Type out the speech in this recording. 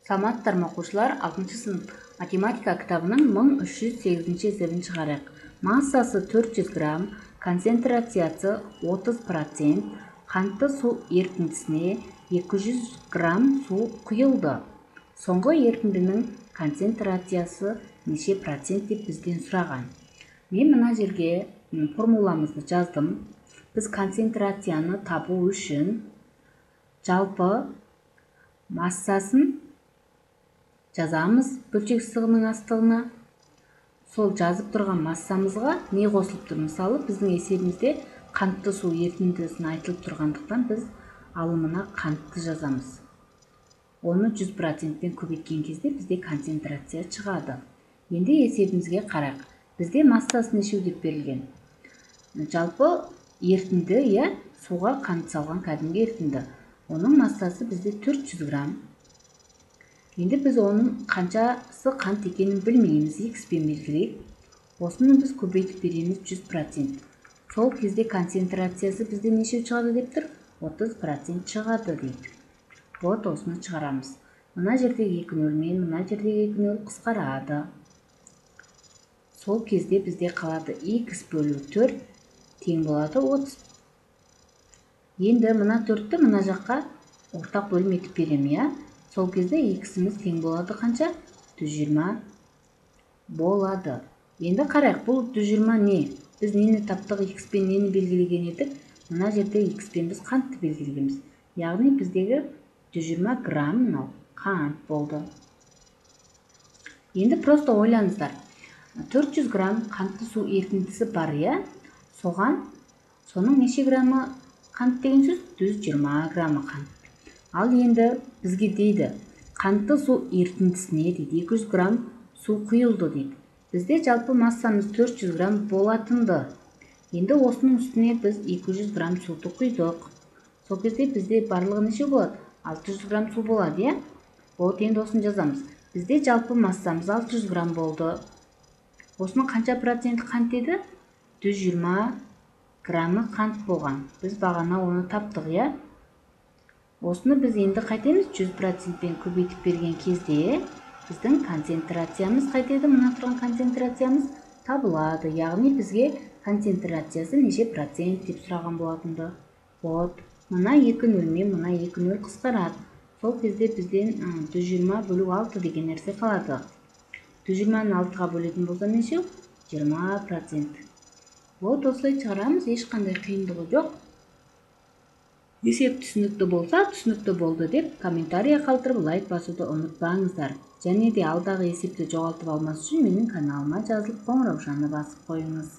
Саламаттарбы окуучулар, 6-сынып математика китабынын 1308 эсебин чыгарайык. Массасы 400 грамм, концентрациясы 30%, кантты суу эритиндисине 200 грамм суу куюлду. Соңку эритиндинин концентрациясы нече процент деп бизден сураган. Мен мына жерге формуламызды жаздым. Биз концентрацияны табуу үчүн жалпы массасын жазабыз бөлчек сызыгынын астыгына. Сол жазып турган массамызга не косулуптур? Мисалы, биздин эсебибизде кантты суу эритиндисине айтылып тургандыктан биз алымына кантты жазабыз. Оны 100%ден көбөйткөн кезде бизде концентрация чыгады. Энди эсебибизге карайык. Бизде массасы нече деп берилген? Жалпы эритинди, сууга кант салган кадимки эритинди. Онун массасы бизде 400 грамм. Энди биз онун канчасы кант экенин билмейбиз, x менен белгилейик. Осуну биз көбөйтүп беребиз 100%. Сол кезде концентрациясы бизде нече чыгады дептир? 30% чыгады дейт. Вот осуну чыгарабыз. Мына жердеги 2 нөл менен мына жердеги 2 нөл кыскарады. Сол кезде бизде калады x бөлү 4 тең болот 30. Энди мына 4тү мына жакка ортак бөлүм этип берем, Сол кезде x'imiz тең болот канча? 120 болот. Энди карайык, бул 120 не? Биз нени таптык? X менен нени белгилеген эдик? Мына жерде x менен биз кантты белгилегенбиз. Ягни биздеги 120 грамм кант болду. Энди просто ойлонуңуздар. 400 грамм кантты суу эритиндиси бар, Сонун нече граммы кант деген сөз? 120 граммы кант. Ал энди бизге дейди, кантты суу эритиндисине дейт 200 грамм суу куюлду дейт. Бизде жалпы массамыз 400 грамм болотунду. Энди осунун үстүнө биз 200 грамм сууту куйдук. Сол кезде бизде барлыгы нече болот? 600 грамм суу болот, Вот энди осуну жазабыз. Бизде жалпы массамыз 600 грамм болду. Осунун канча проценти кант деди? 120 граммы кант болгон. Биз багана оны таптык, Осуну биз энди кайтемиз 100%ден көбөйтүп берген кезде биздин концентрациямыз кайтеді? Мына турган концентрациямыз табылады. Ягни бизге концентрациясы нече процент деп сураган болотунду. Вот, мына 2 нөл менен мына 2 нөл кыскарат. Сол кезде бизден 120 бөлүк 6 деген нерсе калат. 120-ны 6-га бөлөтүн болсо нече? 20%. Вот осулай чыгарабыз, эч кандай кыйындыгы жок. Эсеп түшүнүктүү болсо, түшүнүктүү болду деп комментарий калтырып, лайк басууду унутпаңыздар. Және де алдагы эсепти жоголтуп алмаш үчүн менин каналыма жазылып, коңураушаны басып коюңуз.